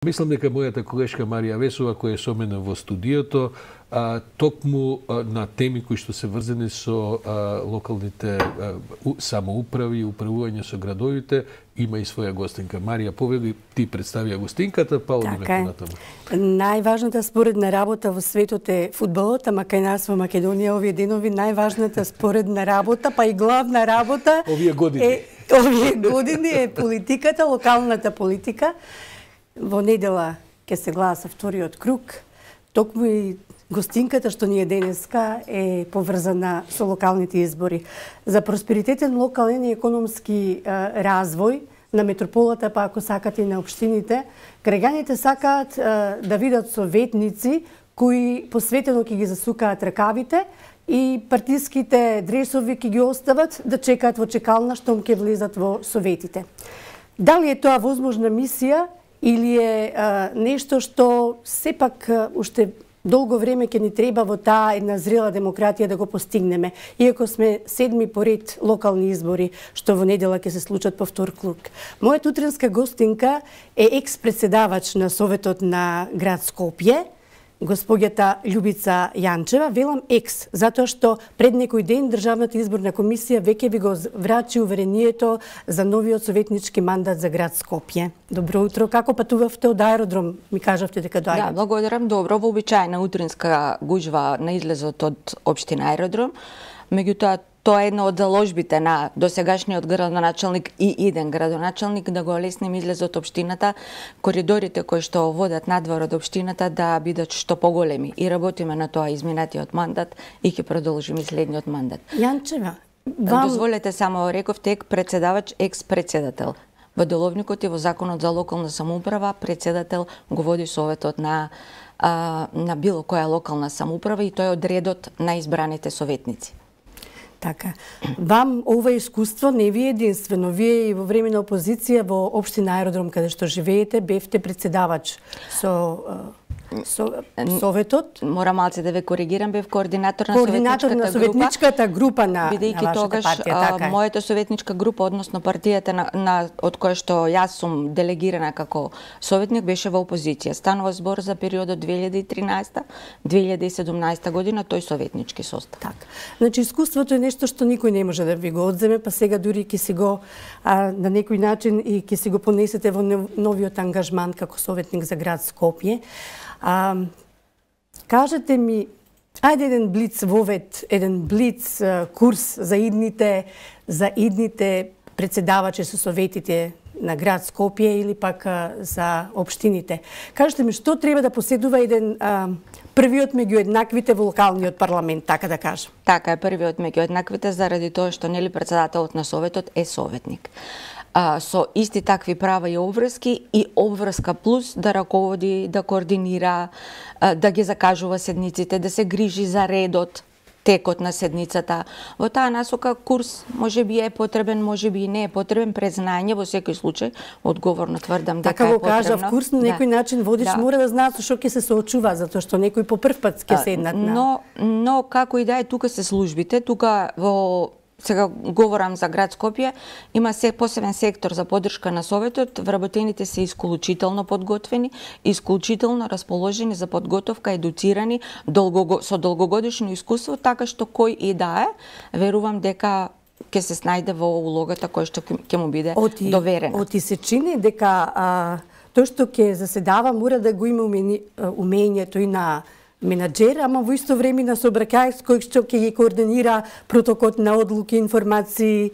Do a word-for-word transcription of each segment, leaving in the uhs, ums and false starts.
Мислам дека мојата колешка Марија Весова, која е со мене во студиото, а, токму а, на теми кои што се врзани со а, локалните а, у, самоуправи и управување со градовите, има и своја гостинка. Марија, повели, ти представија гостинката, па одиме така понатаму. Најважната споредна работа во светот е фудбалот, ама кај нас во Македонија овие денови најважната споредна работа, па и главна работа овие години е, овие години е политиката, локалната политика. Во недела ќе се гласа вториот круг, токму и гостинката што ни е денеска е поврзана со локалните избори. За просперитетен локален и економски е, развој на метрополата, па ако сакате и на општините, граѓаните сакаат е, да видат советници кои посветено ќе ги засукаат ракавите и партиските дресови ќе ги остават да чекаат во чекална штом ќе влезат во советите. Дали е тоа возможна мисија или е а, нешто што сепак а, уште долго време ќе ни треба во таа една зрела демократија да го постигнеме, иако сме седми поред локални избори, што во недела ќе се случат по втор круг. Мојата утренска гостинка е екс-председавач на Советот на град Скопје, госпоѓата Љубица Јанчева. Велам екс, затоа што пред некој ден Државната изборна комисија веќе ви го врачи уверението за новиот советнички мандат за град Скопје. Добро утро, како патувавте од аеродром? Ми кажавте дека доаѓате. Да, благодарам. Добро, вообичаена утринска гужва на излезот од општина Аеродром. Меѓутоа, тоа е една од заложбите на досегашниот градоначалник и иден градоначалник да го олеснем излезот од општината, коридорите кои што водат надвор од општината да бидат што поголеми. И работиме на тоа изминатиот мандат и ќе продолжиме и следниот мандат. Јанчева, вам... дозволете само, рековте, ек председавач, екс-председател. Во деловникот и во законот за локална самоуправа председател го води советот на а, на било која локална самоуправа и тој е од редот на избраните советници. Така. Вам ова искуство не ви е единствено. Вие и во време на опозиција во општина Аеродром каде што живеете бевте председавач со со советот. Мора малце да ве коригирам, бев координатор на координатор советничката на советничката група, група на, бидејќи на вашата тогаш партија, така е. Мојата советничка група, односно партијата на, на од која што јас сум делегирана како советник, беше во опозиција. Станува збор за периодот две илјади и тринаесета до две илјади и седумнаесета година, тој советнички состав. Така. Значи искуството е нешто што никој не може да ви го одземе, па сега дури ќе си го а, на некој начин и ќе си го понесете во новиот ангажман како советник за град Скопје. А, кажете ми, ајде еден блиц вовет, еден блиц а, курс за идните за идните председавачи со советите на град Скопје или пак а, за општините. Кажете ми што треба да поседува еден а, првиот меѓу еднаквите во локалниот парламент, така да кажам. Така е, првиот меѓу еднаквите заради тоа што нели председателот на советот е советник. А, со исти такви права и обврски и обврска плюс да раководи, да координира, а, да ги закажува седниците, да се грижи за редот, текот на седницата. Во таа насока курс може би е потребен, може би и не е потребен, презнање во секој случај, одговорно тврдам дека така е го потребно. кажав, курс на некој да. начин водиш да. мора да знаат со што ќе се соочува, затоа што некој по прв пат ќе седнат на. Но но како и да е, тука се службите, тука во сега говорам за град Скопје, има се посебен сектор за поддршка на советот, вработените се исклучително подготвени, исклучително расположени за подготовка, едуцирани, долго, со долгогодишно искуство, така што кој и да е, верувам дека ќе се снајде во улогата која што ќе му биде оти, доверена. Оти се чини дека а, тој што ќе заседава мора да го има умењето и на менаџер, ама во исто време на сообраќајач кој што ќе ги координира протокот на одлуки, информации.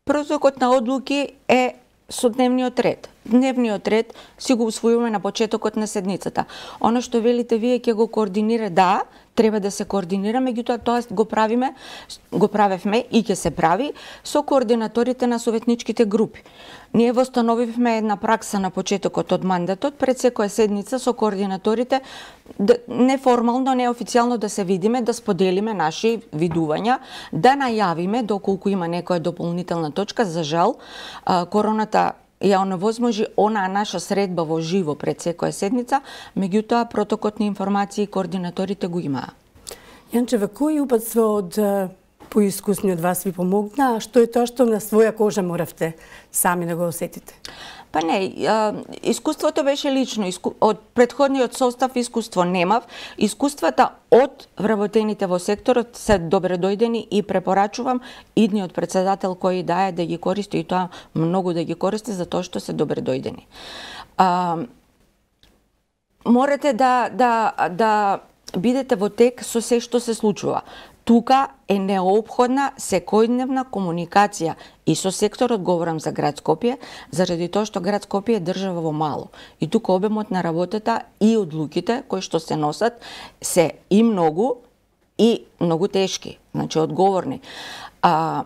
Протокот на одлуки е со дневниот ред. Дневниот ред си го усвојуваме на почетокот на седницата. Оно што велите вие ќе го координира, да, треба да се координира, меѓутоа тоа го правиме, го правевме и ќе се прави со координаторите на советничките групи. Ние востановивме една пракса на почетокот од мандатот, пред секоја седница со координаторите, неформално, неофицијално да се видиме, да споделиме наши видувања, да најавиме доколку има некоја дополнителна точка. За жал, короната ја оневозможи онаа наша средба во живо пред секоја седница, меѓутоа протокот на информации и координаторите го имаа. Јанчева, кој упатство од поискусни од вас ви помогна, а што е тоа што на своја кожа моравте сами да го осетите? Па не, искуството беше лично, од претходниот состав искуство немав, искуствата од вработените во секторот се добре дојдени и препорачувам идниот председател кој дае да ги користи и тоа многу да ги користи затоа што се добре дојдени. А, морате да, да, да бидете во тек со се што се случува. Тука е неопходна секојдневна комуникација и со секторот, говорам за град Скопје, заради тоа што град Скопје е држава во мало. И тука обемот на работата и одлуките кои што се носат се и многу и многу тешки, значи одговорни. А,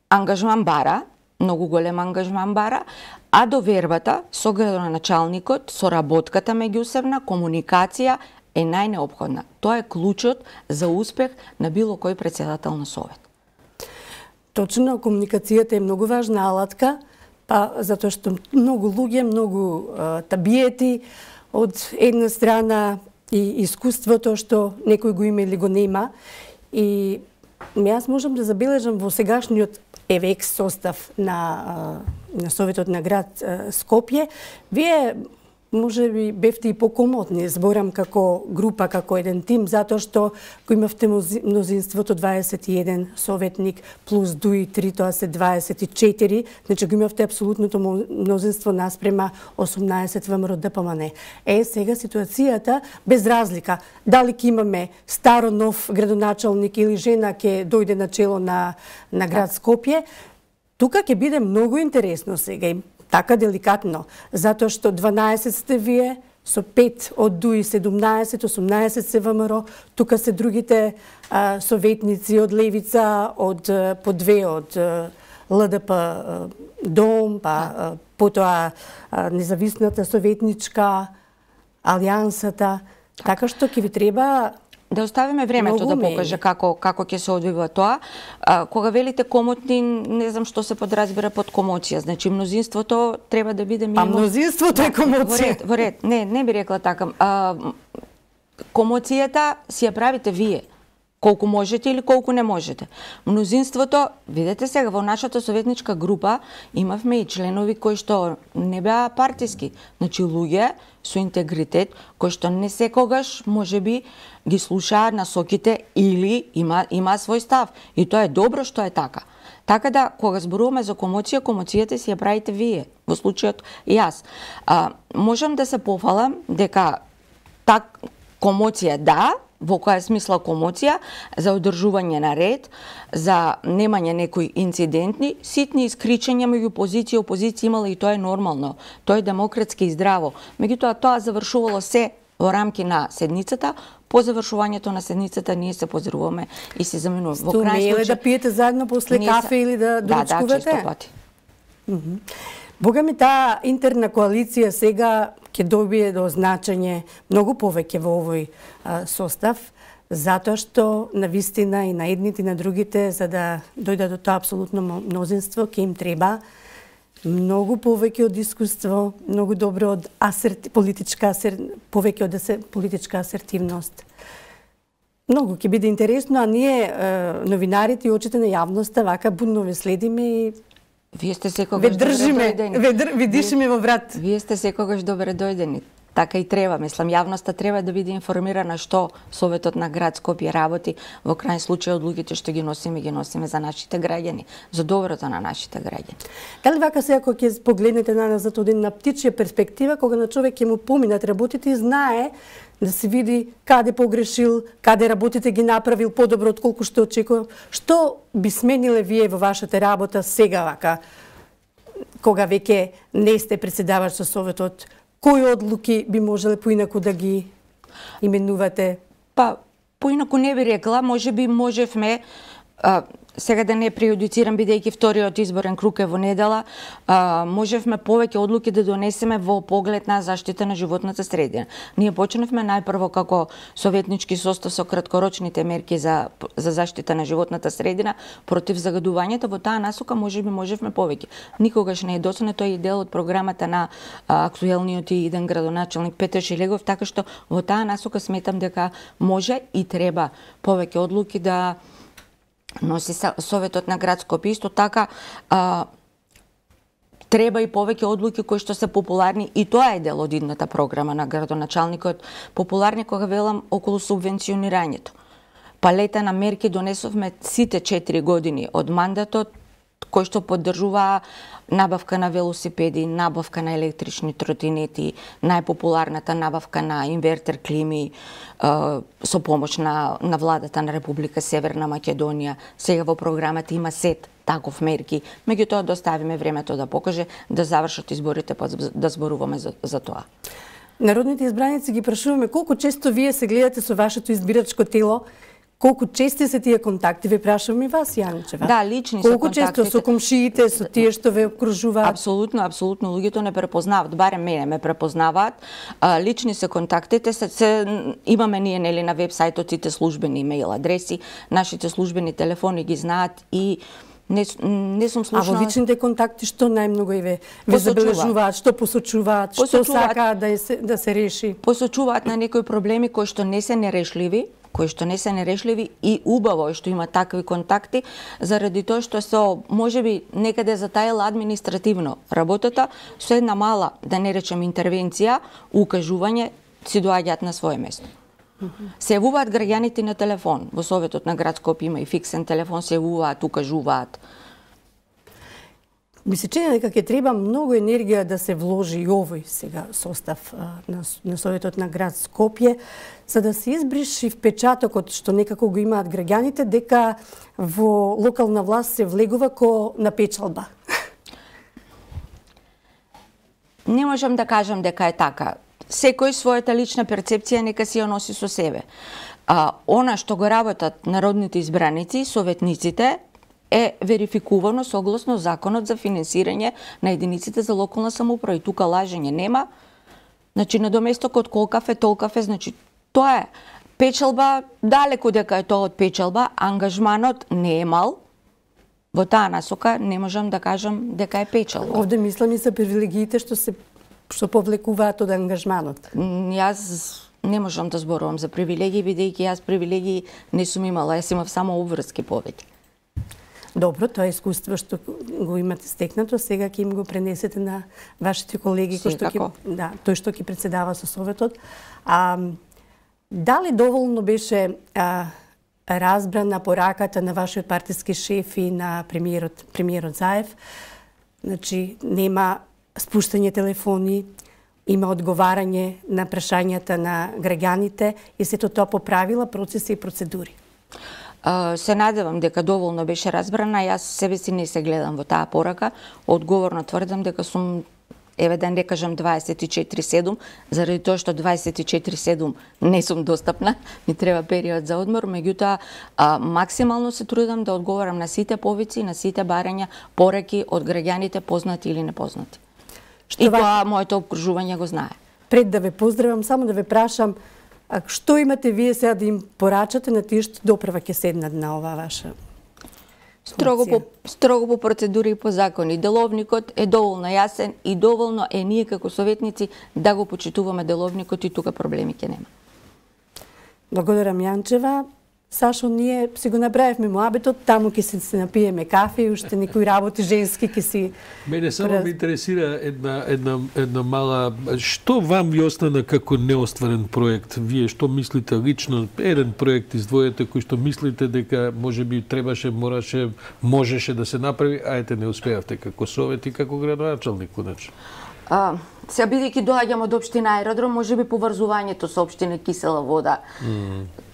ангажман бара, многу голем ангажман бара, а довербата со градоначалникот, со работката меѓусебна, комуникација е најнеопходна. Тоа е клучот за успех на било кој председател на совет. Точно, комуникацијата е многу важна алатка, па затоа што многу луѓе, многу а, табиети од една страна и искуството што некој го има или го нема. И јас можам да забележам во сегашниот ЕВЕКС состав на, на Советот на град Скопје, вие може би бевте и покомотни, зборам како група, како еден тим, затоа што го имавте мнозинството дваесет и еден советник плюс дуи три, тоа се дваесет и четири, значи го имавте апсолутното мнозинство наспрема осумнаесет ВМРО ДПМН. Е, сега ситуацијата без разлика, дали ќе имаме старо нов градоначалник или жена ќе дојде на чело на, на град Скопје, тука ќе биде многу интересно сега и така деликатно, затоа што дванаесет сте вие, со пет од дуи седумнаесет, осумнаесет се ВМРО, тука се другите а, советници од Левица, од по две од ЛДП Дом, па а, потоа а, независната советничка, Алијансата, така што ќе ви треба да оставиме времето да покаже како како ќе се одвива тоа. А, кога велите комотни, не знам што се подразбира под комоција. Значи мнозинството треба да биде минимум. Па мнозинството е комоција. Во ред, во ред. Не, не би рекла така. А, комоцијата си ја правите вие. Колку можете или колку не можете. Мнозинството, видете сега, во нашата советничка група имавме и членови кои што не беа партиски. Значи луѓе со интегритет, кои што не секогаш можеби ги слушаат насоките или има, има свој став. И тоа е добро што е така. Така да, кога зборуваме за комоција, комоцијата си ја правите вие. Во случајот јас. А, можам да се пофалам дека так комоција да, во која смисла комоција, за одржување на ред, за немање некои инцидентни, ситни искричања меѓу позиција и опозиција имала и тоа е нормално. Тоа е демократски и здраво. Меѓутоа тоа завршувало се во рамки на седницата. По завршувањето на седницата ние се поздравуваме и се заменуваме. Во крај случај да пиете заедно после кафе или да доручкувате? Да, да, често пати. Mm -hmm. Бога ми, таа интерна коалиција сега ќе добие до значење многу повеќе во овој а, состав, затоа што на вистина и на едните и на другите, за да дојдат до тоа апсолутно мнозинство, ќе им треба многу повеќе од искуство, многу добро од асерти, политичка асер, повеќе од асер, политичка асертивност. Многу ќе биде интересно, а ние е, новинарите и очите на јавноста вака будно ве следиме и вие сте секогаш добре дојдени. Ве држиме, ве дишиме во врат. Вие сте секогаш добре дојдени. Така и треба, мислам, јавноста треба да биде информирана што Советот на град Скопје работи, во крајен случај одлуките што ги носиме, ги носиме за нашите граѓани, за доброто на нашите граѓани. Дали вака сега кога ќе погледнете на назад од една птичја перспектива, кога на човек ќе му поминат работите и знае да се види каде погрешил, каде работите ги направил подобро од колку што очекував, што би смениле вие во вашата работа сега вака, кога веќе не сте председавач со Советот? Кои одлуки би можеле поинаку да ги именувате? Па, поинаку не би рекла, може би можевме, а, сега да не преюдицирам, бидејќи вториот изборен круг е во недела, а, можевме повеќе одлуки да донесеме во поглед на заштита на животната средина. Ние почнавме најпрво како советнички состав со краткорочните мерки за, за заштита на животната средина против загадувањето, во таа насока може би можевме повеќе. Никогаш не е доцнето и дел од програмата на а, актуелниот и иден градоначалник Петер Шилегов, така што во таа насока сметам дека може и треба повеќе одлуки да носи Советот на град Скопје. Исто така а, треба и повеќе одлуки кои што се популарни, и тоа е дел од идната програма на градоначалникот, популарни кога велам околу субвенционирањето. Палета на мерки донесовме сите четири години од мандатот, кои што поддржуваа набавка на велосипеди, набавка на електрични тротинети, најпопуларната набавка на инвертер клими, со помош на, на владата на Република Северна Македонија. Сега во програмата има сет таков мерки, меѓутоа да оставиме времето да покаже, да завршат изборите, па да зборуваме за, за тоа. Народните избраници ги прашуваме колку често вие се гледате со вашето избирачко тело. Колку чести се тие контакти? Ве прашувам и вас, Јанчева. Да, лични се контактите. Колку често со комшиите, со тие што ве окружуваат? Апсолутно, апсолутно. Луѓето не препознаваат, барем мене ме препознаваат. А, лични се контактите, се, се имаме ние нели на вебсајтот сите службени имејл адреси, нашите службени телефони ги знаат и Не, не сум слушнала... А во личните контакти што најмногу и ве, ве забележуваат, што посочуваат, што сакаат да се, да се реши? Посочуваат на некои проблеми кои што не се нерешливи, кои што не се нерешливи, и убаво е што има такви контакти, заради тоа што со, можеби, некаде затаела административно работата, со една мала, да не речем интервенција, укажување, си доаѓаат на свое место. Се јавуваат граѓаните на телефон. Во Советот на град Скопје има и фиксен телефон, се јавуваат, укажуваат. Ми се чини дека ќе треба многу енергија да се вложи и овој сега состав на, на Советот на град Скопје, за да се избриши впечатокот што некако го имаат граѓаните дека во локална власт се влегува ко на печалба. Не можам да кажам дека е така. Секој својата лична перцепција нека си ја носи со себе. А, она што го работат народните избраници, советниците, е верификувано согласно законот за финансирање на единиците за локална самоуправа. И тука лажење нема. Значи, на доместокот колкав е, толкав е. Значи, тоа е печалба, далеку дека е тоа од печалба, ангажманот не е мал. Во таа насока не можам да кажам дека е печалба. Овде мислам и за привилегиите што се што повлекуваат од ангажманот. Јас не можам да зборувам за привилегии, бидејќи јас привилегии не сум имала, јас имав само обврски повеќе. Добро, тоа е искуство што го имате стекнато, сега ќе им го пренесете на вашите колеги кои што ќе, да, тој што ќе претседава со Советот. А дали доволно беше а, разбрана пораката на вашиот партиски шеф и на премиерот премиерот Заев? Значи, нема спуштање телефони, има одговарање на прашањата на граѓаните и сето тоа поправила процеси и процедури. Uh, се надевам дека доволно беше разбрана. Јас себе си не се гледам во таа порака. Одговорно тврдам дека сум, еве да не кажам дваесет и четири седум, заради тоа што дваесет и четири седум не сум достапна, ми треба период за одмор, меѓутоа uh, максимално се трудам да одговарам на сите повици, на сите барања, пораки од граѓаните, познати или непознати. Што и тоа моето обкружување го знае. Пред да ве поздравам, само да ве прашам, а што имате вие сега да им порачате на тие што доправа ќе седнат на оваа ваша строго по, строго по процедури и по закони. Деловникот е доволно јасен и доволно е ние како советници да го почитуваме деловникот и тука проблеми ќе нема. Благодарам, Јанчева. Сашо, ние си го направивме муабетот, таму ќе се, се напиеме кафе и уште некои работи женски ќе си... Мене само ме интересира една, една, една мала... Што вам ви остана како неостварен проект? Вие што мислите лично? Еден проект издвојете кој што мислите дека може би требаше, мораше, можеше да се направи, а ете не успеавте како совет и како градоначалник, конечно. А, сега бидејќи доаѓам од општина Аеродром, може би поврзувањето со општина Кисела вода. Mm.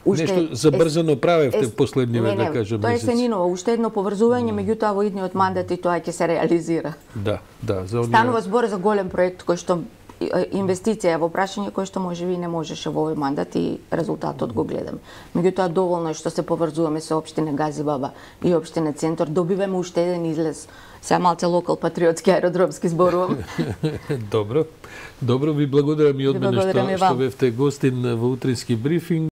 Уште нешто забрзано правевте е, последниве, да кажем, тоа е сениново, уште едно поврзување, mm. меѓутоа во идниот мандат и тоа ќе се реализира. Да, да. За оние... Станува збор за голем проект кој што инвестиција во прашање кој што можеби не можеше во овој мандат и резултатот го гледаме. Меѓутоа доволно е што се поврзуваме со општина Газибаба и општина Центар, добиваме уште еден излез. Сега малце локал патриотски аеродромски зборувам. Добро. Добро, ви благодарам и од мене што, што бевте гостин во утрински брифинг.